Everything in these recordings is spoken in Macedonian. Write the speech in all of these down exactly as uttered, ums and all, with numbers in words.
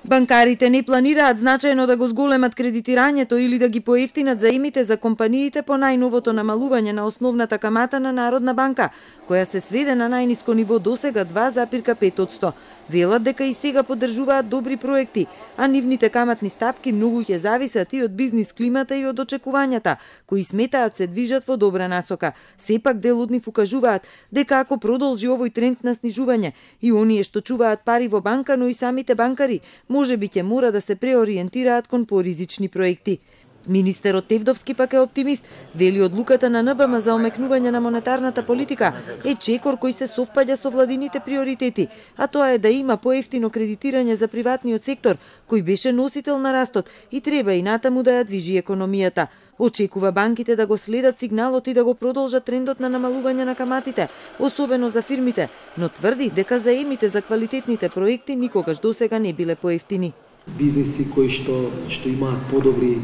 Банкарите не планираат значајно да го зголемат кредитирањето или да ги поевтинат заемите за компаниите по најновото намалување на основната камата на Народна банка, која се сведе на најниско ниво досега два запирка пет одсто. Велат дека и сега поддржуваат добри проекти, а нивните каматни стапки многу ќе зависат и од бизнис климата и од очекувањата, кои сметаат се движат во добра насока. Сепак дел од нив укажуваат дека ако продолжи овој тренд на снижување и оние што чуваат пари во банка, но и самите банкари, можеби ќе мора да се преориентираат кон поризични проекти. Министерот Тевдовски пак е оптимист, вели одлуката на ен бе ем за омекнување на монетарната политика е чекор кој се совпаѓа со владините приоритети, а тоа е да има поевтино кредитирање за приватниот сектор, кој беше носител на растот и треба и натаму да ја движи економијата. Очекува банките да го следат сигналот и да го продолжат трендот на намалување на каматите, особено за фирмите, но тврди дека заемите за квалитетните проекти никогаш досега не биле поевтини. Бизниси кои што што имаат подобри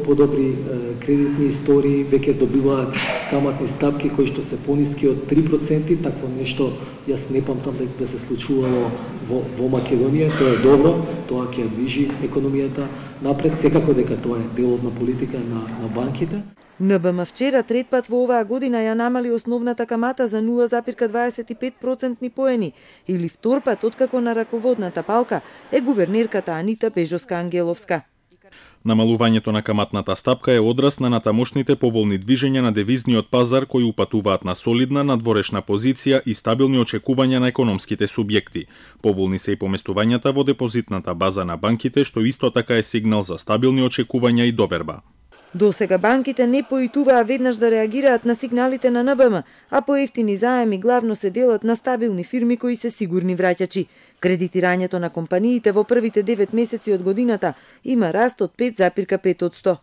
подобри кредитни истории веќе добиваат каматни стапки кои што се пониски од три проценти, такво нешто јас не памтам да се случувало во, во Македонија. Тоа е добро, тоа ќе движи економијата напред, секако дека тоа е делот на политика на, на банките. ен бе ем вчера трет пат во оваа година ја намали основната камата за нула запирка дваесет и пет процентни поени, или втор пат откако на раководната палка е гувернерката Анита Бежовска-Ангеловска. Намалувањето на каматната стапка е одраз на натамошните поволни движења на девизниот пазар кои упатуваат на солидна надворешна позиција и стабилни очекувања на економските субјекти. Поволни се и поместувањата во депозитната база на банките, што исто така е сигнал за стабилни очекувања и доверба. Досега банките не поитуваа веднаш да реагираат на сигналите на ен бе ем, а поевтини заеми главно се делат на стабилни фирми кои се сигурни враќачи. Кредитирањето на компаниите во првите девет месеци од годината има раст од пет запирка пет одсто.